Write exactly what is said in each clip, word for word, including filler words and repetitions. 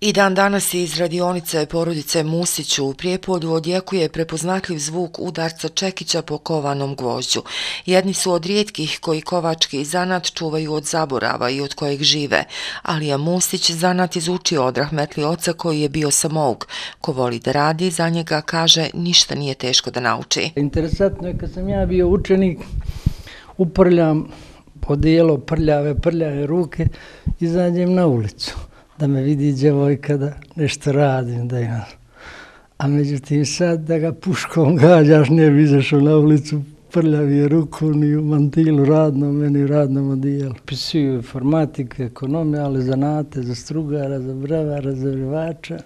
I dan danas iz radionice porodice Musić u Prijepolju odjekuje prepoznatljiv zvuk udarca čekića po kovanom gvožđu. Jedni su od rijetkih koji kovački zanat čuvaju od zaborava i od kojeg žive, ali je Musić zanat izučio od rahmetli oca koji je bio samouk. Ko voli da radi, za njega, kaže, ništa nije teško da nauči. Interesantno je kad sam ja bio učenik, uprljam odijelo, prljave, prljave ruke, izađem na ulicu da me vidi djevojka da nešto radim, da imam. A međutim sad da ga puškom gađaš, ne bi izašao na ulicu, prljavi je ruku, ni u mantilu radnom, meni u radnom odijelu. Pisuju informatike, ekonomije, ali zanate za strugara, za bravara, za vrivača,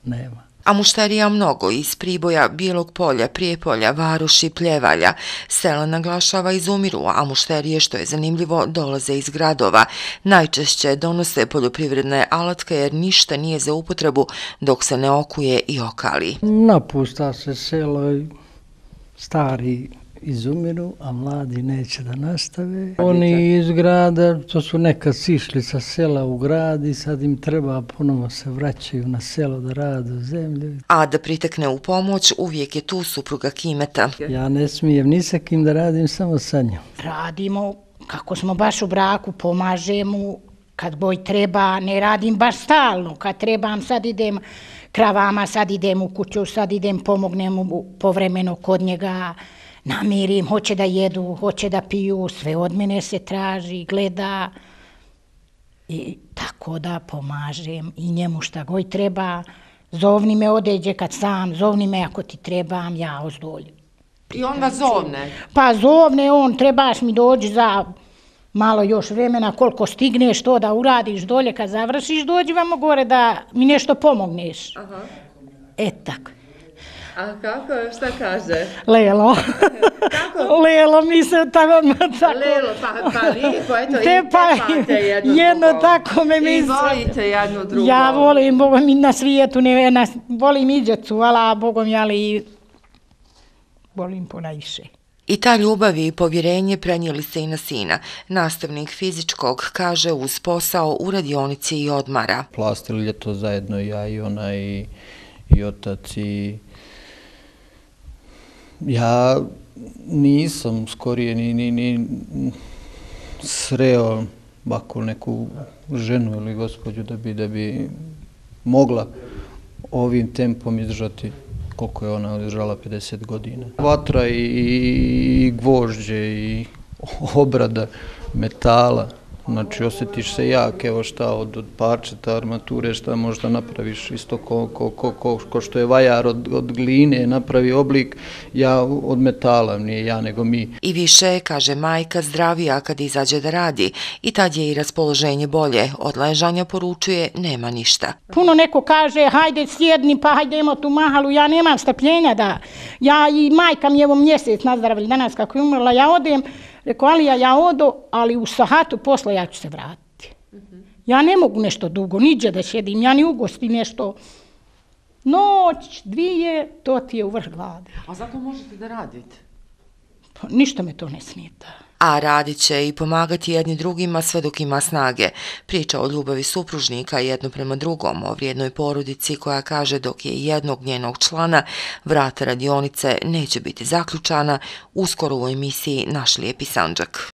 nema. A mušterija mnogo iz Priboja, Bijelog Polja, Prijepolja, Varoši, Pljevalja. Sela, naglašava, izumiru, a mušterije, što je zanimljivo, dolaze iz gradova. Najčešće donose poljoprivredne alatke jer ništa nije za upotrebu dok se ne okuje i okali. Napusta se selo i stari izumiru, a mladi neće da nastave. Oni iz grada, to su nekad sišli sa sela u grad i sad im treba, ponovo se vraćaju na selo da rade u zemlju. A da pritekne u pomoć, uvijek je tu supruga Kimeta. Ja ne smijem ni sa kim da radim, samo sa njom. Radimo, kako smo baš u braku, pomažemo, kad boj treba, ne radim baš stalno, kad trebam, sad idem kravama, sad idem u kuću, sad idem, pomognem povremeno kod njega, namirim, hoće da jedu, hoće da piju, sve od mene se traži, gleda i tako da pomažem i njemu šta god treba. Zovni me odeđe kad sam, zovni me ako ti trebam, ja ozdolju. I on vas zovne? Pa zovne on, trebaš mi doći za malo još vremena, koliko stigneš to da uradiš dolje, kad završiš dođi vamo gore da mi nešto pomogneš. Aha. E tako. A kako, šta kaže? Lelo. Kako? Lelo, mi se tako... Lelo, pa, pa lijepo, eto, te, i tepate jedno jedno drugo. tako me mi... I volite jedno drugo. Ja volim, Bogom mi na svijetu, ne, na, volim i djecu, ala Bogom, ali volim ponajviše. I ta ljubav i povjerenje prenijeli se i na sina. Nastavnik fizičkog, kaže, uz posao u radionici i odmara. Plastili ljeto zajedno, ja i ona i, i otac i... Ja nisam skorije ni, ni, ni sreo ovako neku ženu ili gospođu da bi, da bi mogla ovim tempom izdržati koliko je ona izdržala, pedeset godina. Vatra i, i gvožđe i obrada metala. Znači, osjetiš se jak, evo šta, od, od parčeta, armature, šta možda napraviš, isto ko, ko, ko, ko, ko što je vajar od, od gline napravi oblik, ja od metala, nije ja nego mi. I više, kaže majka, zdravija kad izađe da radi i tad je i raspoloženje bolje. Od ležanja, poručuje, nema ništa. Puno neko kaže, hajde sjedni, pa hajdemo tu mahalu, ja nemam strpljenja da, ja i majka mi evo mjesec nazdravili danas kako je umrla, ja odem, rekao, ali ja, ja odo, ali u sahatu posle ja ću se vratiti. Ja ne mogu nešto dugo, niđe da sjedim, ja ni ugosti nešto. Noć, dvije, to ti je u vrh glade. A zato možete da radite? Pa, ništa me to ne smeta. A radit će i pomagati jedni drugima sve dok ima snage. Priča o ljubavi supružnika jedno prema drugom, o vrijednoj porodici koja kaže dok je jednog njenog člana, vrata radionice neće biti zaključana, uskoro u emisiji Naš lijepi Sandžak.